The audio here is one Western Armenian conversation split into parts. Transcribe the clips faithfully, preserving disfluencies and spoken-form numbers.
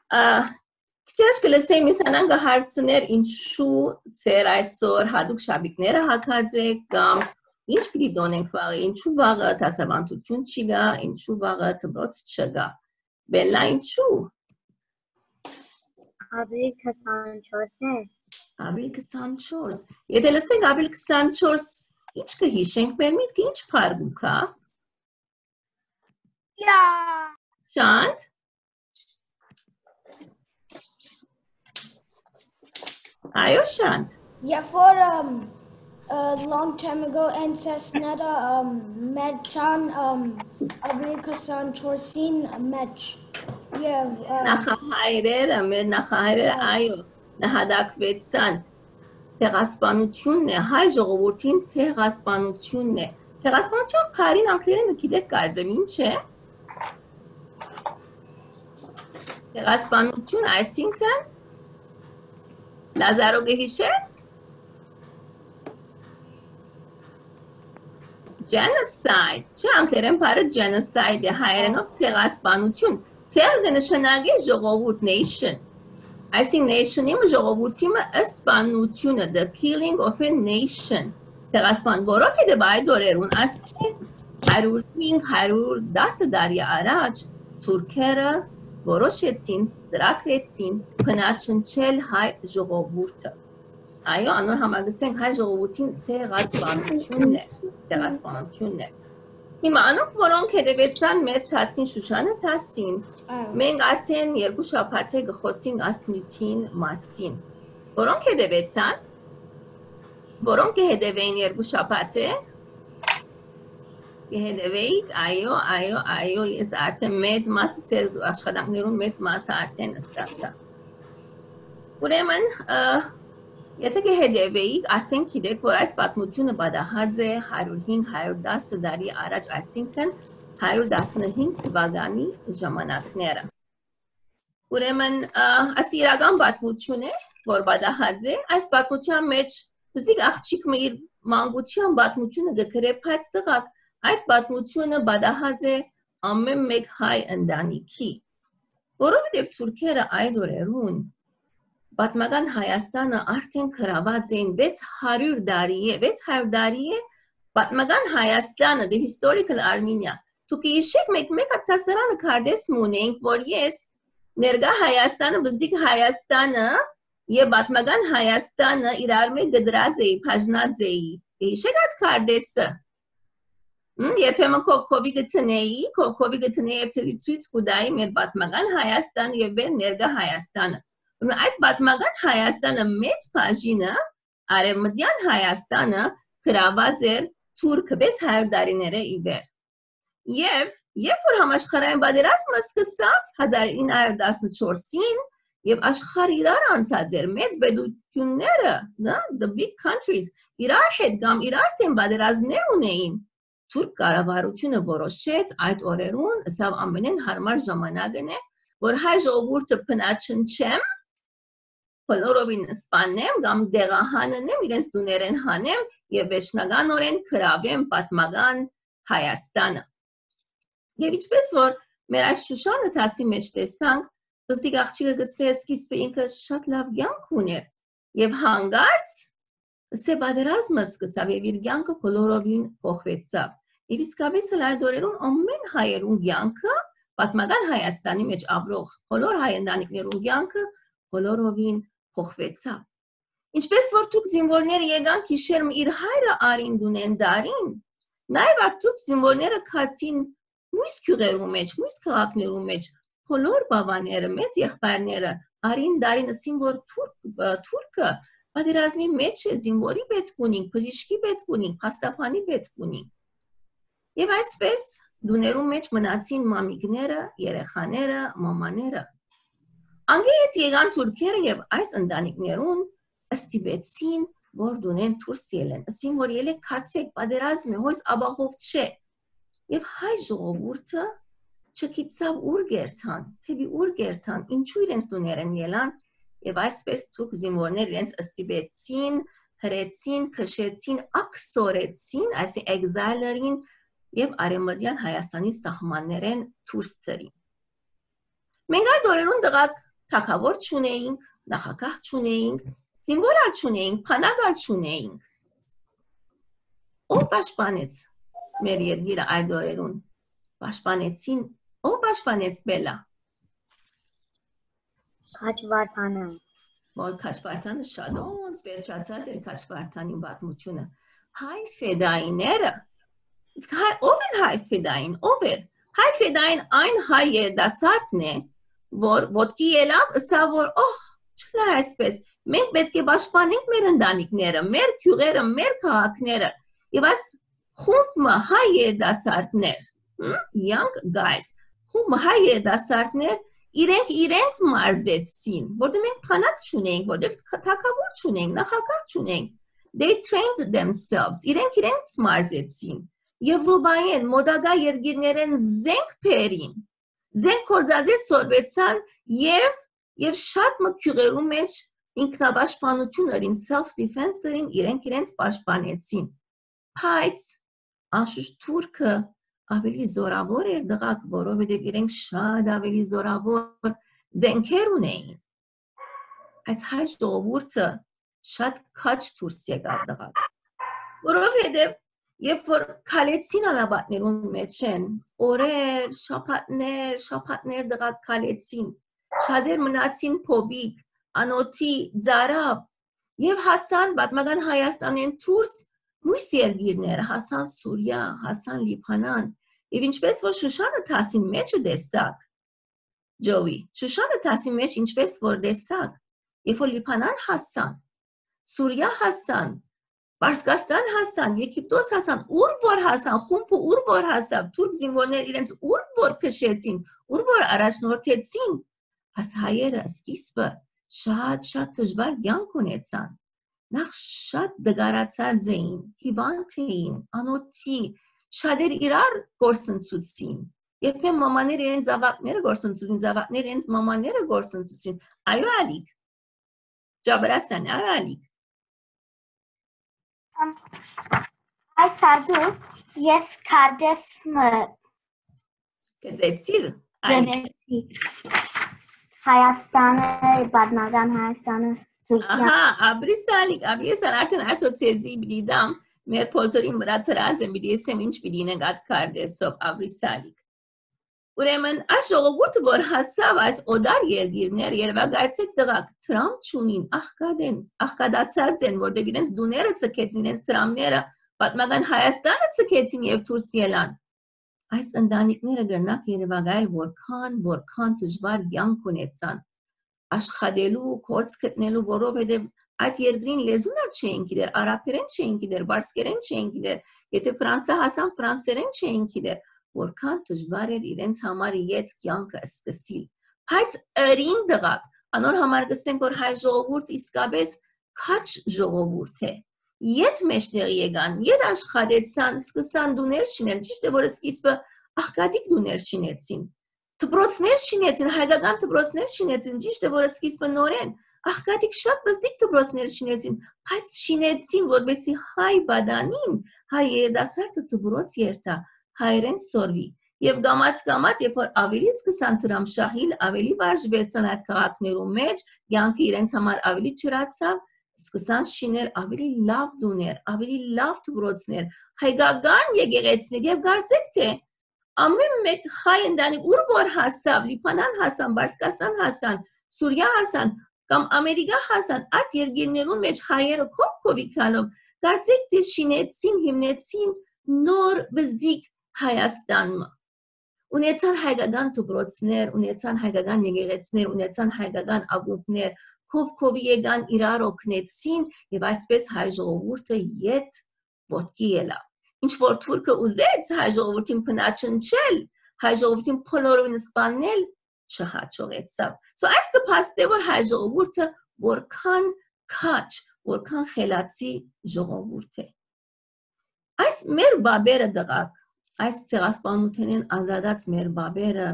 Ա, քիչ առաջ կը լսեմ, Միսանան կը հարցներ, ինչու ձեր այսօր հատուկ շապիկները հագած եք, կամ ինչ պիտի տոնենք վաղը, ինչու վաղը դասավանդութիւն չի գա, ինչու վաղը դպրոց չկա։ Բելլա, ինչու։ Ապրիլ քսանչորս է։ Ապրիլ քսանչորս։ Եթե լսենք ապրիլ քսանչորս, ինչ կը հիշենք, մեր միտքը ինչ փառ կու գայ։ Շանթ։ Այո, Շանթ։ Երբ որ, um, a long time ago, ancestors-ները, um, մեռցան, um, ապրիլ քսանչորսին մէջ, եւ, um, նախահայրերը, մեր նախահայրերը, այո, նահատակվեցան ցեղասպանութիւնն է, հայ ժողովուրդին ցեղասպանութիւնն է։ Ցեղասպանութեան բառին անգլերէնը գիտեք կարծեմ ինչ է։ Ցեղասպանութիւն, այսինքն, Լազարո, կը հիշե՞ս։ Genocide, չէ՞, անգլերէն բառը genocide է, հայերէնով ցեղասպանութիւն։ Ցեղ կը նշանակէ ժողովուրդ, nation։ Այսինքն, nation-ի մը, ժողովուրդի մը սպանութիւնը, the killing of a nation, ցեղասպան, որովհետեւ այդ օրերուն, ասկէ հարիւր հինգ, հարիւր տասը տարի առաջ, թուրքերը որոշեցին, ծրագրեցին բնաջնջել հայ ժողովուրդը։ Այո, անոր համար կ'ըսենք հայ ժողովուրդին ցեղասպանութիւնն էր, ցեղասպանութիւնն էր։ Հիմա անոնք, որոնք հետեւեցան մեր դասին, Շուշանը դասին, մենք արդեն երկու շաբաթ է կը խօսենք այս նիւթին մասին։ Որոնք հետեւեցան, որոնք կը հետեւէին երկու շաբաթ է, կը հետեւէիք, այո, այո, այո, ես արդեն մեծ մասը, ձեր աշխատանքներուն մեծ մասը արդեն ստացայ։ Ուրեմն, ը, եթե կը հետեւէիք, արդեն գիտեք, որ այս պատմութիւնը պատահած է հարիւր հինգ, հարիւր տասը տարի առաջ, այսինքն, հարիւր տասնհինգ թուականի ժամանակները։ Ուրեմն, ը, այս իրական պատմութիւն է, որ պատահած է, այս պատմութեան մէջ պզտիկ աղջիկ մը իր մանկութեան պատմութիւնը կը գրէ, բայց, տղաք, այդ պատմութիւնը պատահած է ամէն մէկ հայ ընտանիքի, որովհետեւ թուրքերը այդ օրերուն պատմական Հայաստանը արդեն գրաւած էին վեց հարիւր տարի է, վեց հարիւր տարի է պատմական Հայաստանը, the historical Armenia։ Դուք հիշեք, մենք մեկ հատ դասարանը քարտէս մը ունենք, որ ես ներկայ Հայաստանը, պզտիկ Հայաստանը եւ պատմական Հայաստանը իրար մէջ կտրած էի, բաժնած էի։ Հիշեք այդ քարտէսը։ Հմ, երբեմն քովքովի կը դնէի, քովքովի կը դնէի եւ ցեզի ցոյց կու տայի մեր պատմական Հայաստանը եւ մեր ներկայ Հայաստանը։ Ուրեմն այդ պատմական Հայաստանը մեծ բաժինը, արեւմտեան Հայաստանը, գրաւած էր թուրքը վեց հարիւր տարիներէ ի վեր։ Եւ երբ որ համաշխարհային պատերազմը սկսաւ հազար ինը հարիւր տասնչորսին, եւ աշխարհը իրար անցած էր, մեծ պետութիւնները, նա, the big countries, իրար հետ կամ իրար դէմ պատերազմներ ունէին, թուրք կառավարութիւնը որոշեց այդ օրերուն, ըսաւ, ամենէն յարմար ժամանակն է, որ հայ ժողովուրդը բնաջնջեմ, բոլորովին սպանեմ կամ տեղահանեմ, իրենց տուներէն հանեմ եւ վերջնականօրէն գրաւեմ պատմական Հայաստանը։ Եւ ինչպես որ մեր այս Շուշանը դասի մէջ տեսանք, պզտիկ աղջիկը գսե սկիզբը ինքը շատ լաւ կեանք ուներ եւ հանկարծ սե պատերազմը սկսաւ եւ իր կեանքը բոլորովին փոխուեցաւ։ Եւ իսկապես էլ այդ օրերուն ամէն հայերուն կեանքը, պատմական Հայաստանի մէջ ապրող բոլոր հայ ընտանիքներուն կեանքը բոլորովին փոխուեցաւ։ Ինչպես որ թուրք զինուորները եկան գիշեր մը իր հայրը արին տունէն դարին, նաեւ այդ թուրք զինուորները գացին մյուս գիւղերու մէջ, մյուս քաղաքներու մէջ, բոլոր բաւաները, մեծ եղբայրները արին դարին, ըսին որ թուրք, ը, թուրքը պատերազմի մէջ է, զինուորի պէտք ունինք, բժիշկի պէտք ունինք, փաստաբանի պէտք ունինք։ Եւ այսպես տուներու մէջ մնացին մամիկները, երեխաները, մամաները։ Անկէ հետ եկան թուրքերը եւ այս ընտանիքներուն ստիպեցին, որ տունէն դուրս ելեն, ըսին որ ելեք գացեք, պատերազմ է, հոյս ապահով չէ։ Եւ հայ ժողովուրդը չգիտցաւ ուր կերթան, թէ պի ուր կերթան, ինչու իրենց տուներէն ելան, եւ այսպես թուրք զինուորներ իրենց ստիպեցին, հրեցին, քշեցին, աքսորեցին, այսինքն exile-ին, եւ արեւմտեան Հայաստանի սահմաններէն դուրս դրին։ Մենք այդ օրերուն, տղաք, թագաւոր չունէինք, նախագահ չունէինք, զինուոր ալ չունէինք, բանակ ալ չունէինք։ Ո՞վ պաշտպանեց մեր երկիրը այդ օրերուն։ Պաշտպանեցին, ո՞վ պաշտպանեց, Բելլա։ Քաչվարդանը։ Որ Քաչվարդանը շատ ոնց վերջացած էր Քաչվարդանին պատմությունը։ Հայ ֆեդայիները, իսկ հայ, ո՞վ են հայ ֆեդային, ո՞վ էր։ Հայ ֆեդային այն հայ երիտասարդն է, որ ոտքի ելաւ, ըսաւ որ, «Օհ, չլայ այսպես, մենք պէտք է պաշտպանենք մեր ընտանիքները, մեր գիւղերը, մեր քաղաքները»։ Եւ այս խումբ մը հայ երիտասարդներ, հմ, young guys, խումբ մը հայ երիտասարդներ, իրենք իրենց մարզեցին, որտեղ մենք բանակ չունենք, որտեղ թագաւոր չունենք, նախագահ չունենք, they trained themselves, իրենք իրենց մարզեցին, Եվրոպայէն, մոտակայ երկիրներէն զենք բերին, զենք գործածել սորվեցան եւ, եւ շատ մը գիւղերու մէջ ինքնապաշտպանություն ըրին, self defense ըրին, իրենք իրենց պաշտպանեցին։ Բայց անշուշտ թուրքը ավելի զորաւոր էր, դղակ, որովհետեւ իրենք շատ ավելի զորաւոր զենքեր ունէին։ Այս հայ ժողովուրդը շատ քաջ դուրս եկաւ, դղակ, որովհետեւ երբ որ քալեցին անապատներուն մէջ են, օրեր, շաբաթներ, շաբաթներ, դղակ, քալեցին, շատեր մնացին փոփիկ, անօթի, ծարաւ, եւ հասան պատմական Հայաստանէն դուրս մյուս երկիրները, հասան Սուրիա, հասան Լիբանան, եւ ինչպես որ Շուշանը դասին մէջը տեսաք, Ջովի, Շուշանը դասին մէջ ինչպես որ տեսաք, երբ որ Լիբանան հասան, Սուրիա հասան, Պարսկաստան հասան, Եգիպտոս հասան, ուր որ հասան, խումբը ուր որ հասաւ, թուրք զինուորներ իրենց ուր որ քշեցին, ուր որ առաջնորդեցին, աս հայերը սկիզբը շատ, շատ դժուար կյանք ունեցան։ Նախ շատ դգարացած էին, հիվանդ էին, անօթի, շատեր իրար կորսնցուցին։ Երբեմն մամաներ իրենց զաւակները կորսնցուցին, զաւակներ իրենց մամաները կորսնցուցին։ Այո, ալիք։ Ջաբրասան, այո, ալիք։ Ամ, այս ադու ես քարտէս մը Գծեցիր, ալիք։ Գծեցի։ Հայաստանը, պատմական Հայաստանը, Թուրքիա։ Ահա, ապրիս, ալիք, ապրիս, ալ արդեն այսօ ցեզի պիտի դամ, մեր փոլթորին վրա դրած եմ, պիտի եսեմ ինչ պիտի ինենք այդ քարտէսով, ապրիս, ալիք։ Ուրեմն, այս ժողովուրդը, որ հասաւ այս օտար երկիրներ, երևակայեցեք, դղակ, դրամ չունին, աղքատ են, աղքատացած են, որտեղ իրենց դուները ցկեցին, իրենց դրամները, պատմական Հայաստանը ցկեցին եւ դուրս ելան։ Այս ընտանիքները կրնակ երևակայել, որքան, որքան դժուար կյանք ունեցան, աշխատելու, գործ գտնելու, որովհետեւ այդ երկրին լեզուն ալ չէին գիտեր, արաբերեն չէին գիտեր, բարսկերեն չէին գիտեր, եթե Ֆրանսա հասան, ֆրանսերեն չէին գիտեր, որքան դժուար էր իրենց համար ետ կյանքը սկսիլ։ Բայց ըրին, դղակ, անոր համար կսենք, որ հայ ժողովուրդ իսկապես քաջ ժողովուրդ է։ Ետ մեջտեղի եկան, ետ աշխատեցան, սկսան տուներ շինել, ճիշդ է, որ սկիզբը աղքատիկ տուներ շինեցին, դպրոցներ շինեցին, հայկական դպրոցներ շինեցին, ճիշդ է, որ սկիզբը նորեն աղքատիկ շատ պզտիկ դպրոցներ շինեցին, բայց շինեցին, որպեսզի հայ պատանին, հայ երիտասարդը դպրոց երթայ, հայերէն սորվի։ Եւ կամաց-կամաց, երբ որ ավելի սկսան դրամ շահիլ, ավելի վարժուեցան այդ քաղաքներու մէջ, կյանքը իրենց համար ավելի ջրացաւ, սկսան շինել ավելի լաւ տուներ, ավելի լաւ դպրոցներ, հայկական եկեղեցիներ, եւ կարծեք թէ ամէն մէկ հայ ընտանիք, ուր որ հասաւ, Լիբանան հասան, Պարսկաստան հասան, Սուրիա հասան, կամ Ամերիկա հասան, այդ երկիրներուն մէջ հայերը քով-քովի գալով, կարծեք թէ շինեցին, հիմնեցին նոր բզդիկ Հայաստան մը։ Ունեցան հայկական դպրոցներ, ունեցան հայկական եկեղեցիներ, ունեցան հայկական ակումբներ, քով-քովի եկան, իրար օգնեցին, եւ այսպես հայ ժողովուրդը ետ ոտքի ելաւ։ Ինչ որ թուրքը ուզեց հայ ժողովուրդին բնաչնչել, հայ ժողովուրդին բոլորովին սպանել, չհաջողեցաւ։ So, այս կը փաստէ, որ հայ ժողովուրդը որքան քաջ, որքան խելացի ժողովուրդ է։ Այս մեր բաբերը, դղակ, այս ցեղասպանութենէն ազատած մեր բաբերը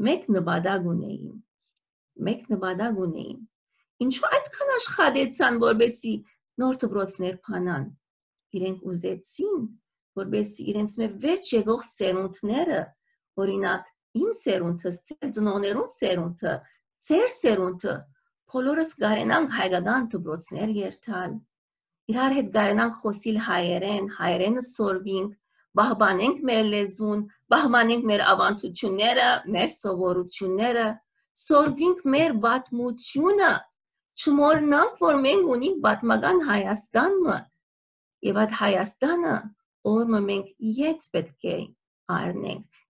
մէկ նպատակ ունէին, մէկ նպատակ ունէին։ Ինչու այդքան աշխատեցան, որպեսզի նոր դպրոցներ բանան։ Իրենք ուզեցին, որպեսզի իրենց մէ վերջ եկող սերունդները, օրինակ, իմ սերունդս, ձեր ծնողներուն սերունդը, ձեր սերունդը, բոլորս կարենանք հայկական դպրոցներ երթալ, իրար հետ կարենանք խօսիլ հայերէն, հայերէնը սորվինք, պահպանենք մեր լեզուն, պահպանենք մեր աւանդութիւնները, մեր սովորութիւնները, սորվինք մեր պատմութիւնը, չմոռնանք, որ մենք ունենք պատմական Հայաստան մը, եւ այդ Հայաստանը օր մը մենք ետ պէտք է առնենք,